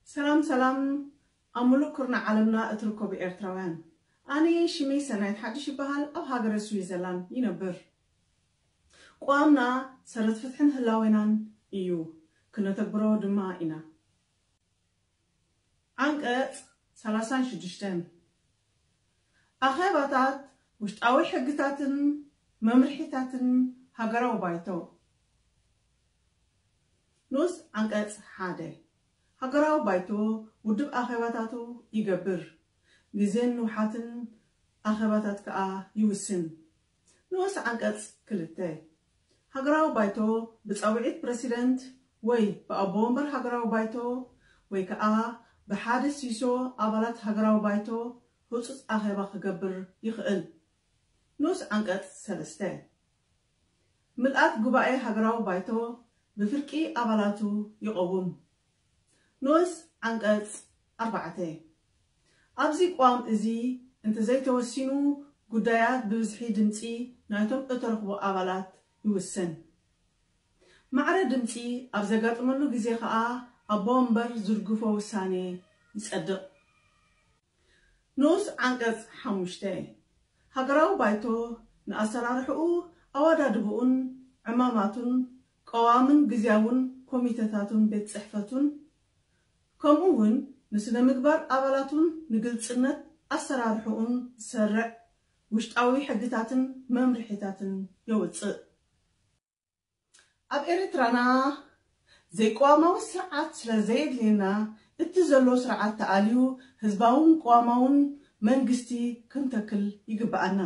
ሰላም ሰላም፣ ኣብ ሙሉእ ኩርናዕ ዓለምና እትርከቡ ኤርትራውያን፣ ኣነ ሽመይ ሰናይት ሓድሽ ይበሃል። ኣብ ሃገረ ስዊዘርላንድ ይነብር። ቋምና ሰረት ፍትሕን ህላዌናን እዩ፣ ክነተግብሮ ድማ ኢና። ዓንቀጽ ሰላሳን ሽዱሽተን፣ ኣኼባታት ውሽጣዊ ሕግታትን መምርሒታትን ሃገራዊ ባይቶ። ንኡስ ዓንቀጽ ሓደ፣ ሃገራዊ ባይቶ ውድብ ኣኼባታቱ ይገብር፣ ግዜን ንውሓትን ኣኼባታት ከኣ ይውስን። ንኡስ ዓንቀጽ ክልተ፣ ሃገራዊ ባይቶ ብጻውዒት ፕረሲደንት ወይ ብኣቦ ወንበር ሃገራዊ ባይቶ ወይ ከኣ ብሓደ ሲሶ ኣባላት ሃገራዊ ባይቶ ህጹጽ ኣኼባ ክገብር ይኽእል። ንኡስ ዓንቀጽ ሰለስተ፣ ምልኣት ጉባኤ ሃገራዊ ባይቶ ብፍርቂ ኣባላቱ ይቐውም። ንኡስ ዓንቀጽ ኣርባዕተ፣ ኣብዚ ቅዋም እዚ እንተዘይተወሲኑ፣ ጉዳያት ብብዝሒ ድምጺ ናይቶም እተረኽቡ ኣባላት ይውሰን። ማዕረ ድምጺ ኣብ ዘጋጥመሉ ግዜ ከኣ ኣቦ ወንበር ዝድግፎ ውሳኔ ይጸድቕ። ንኡስ ዓንቀጽ ሓሙሽተ፣ ሃገራዊ ባይቶ ንኣሰራርሕኡ፣ ኣወዳድብኡን ዕማማቱን፣ ቀዋምን ግዝያውን ኮሚተታቱን ቤት ጽሕፈቱን፣ ከምኡ እውን ንስነ ምግባር ኣባላቱን ንግልጽነት ኣሰራርሕኡን ዝሰርዕ ውሽጣዊ ሕግታትን መምርሒታትን የውጽእ። ኣብ ኤርትራና ዘይቅዋማዊ ስርዓት ስለ ዘየድልየና፣ እቲ ዘሎ ስርዓት ተኣልዩ ህዝባውን ቅዋማውን መንግስቲ ክንተክል ይግብኣና።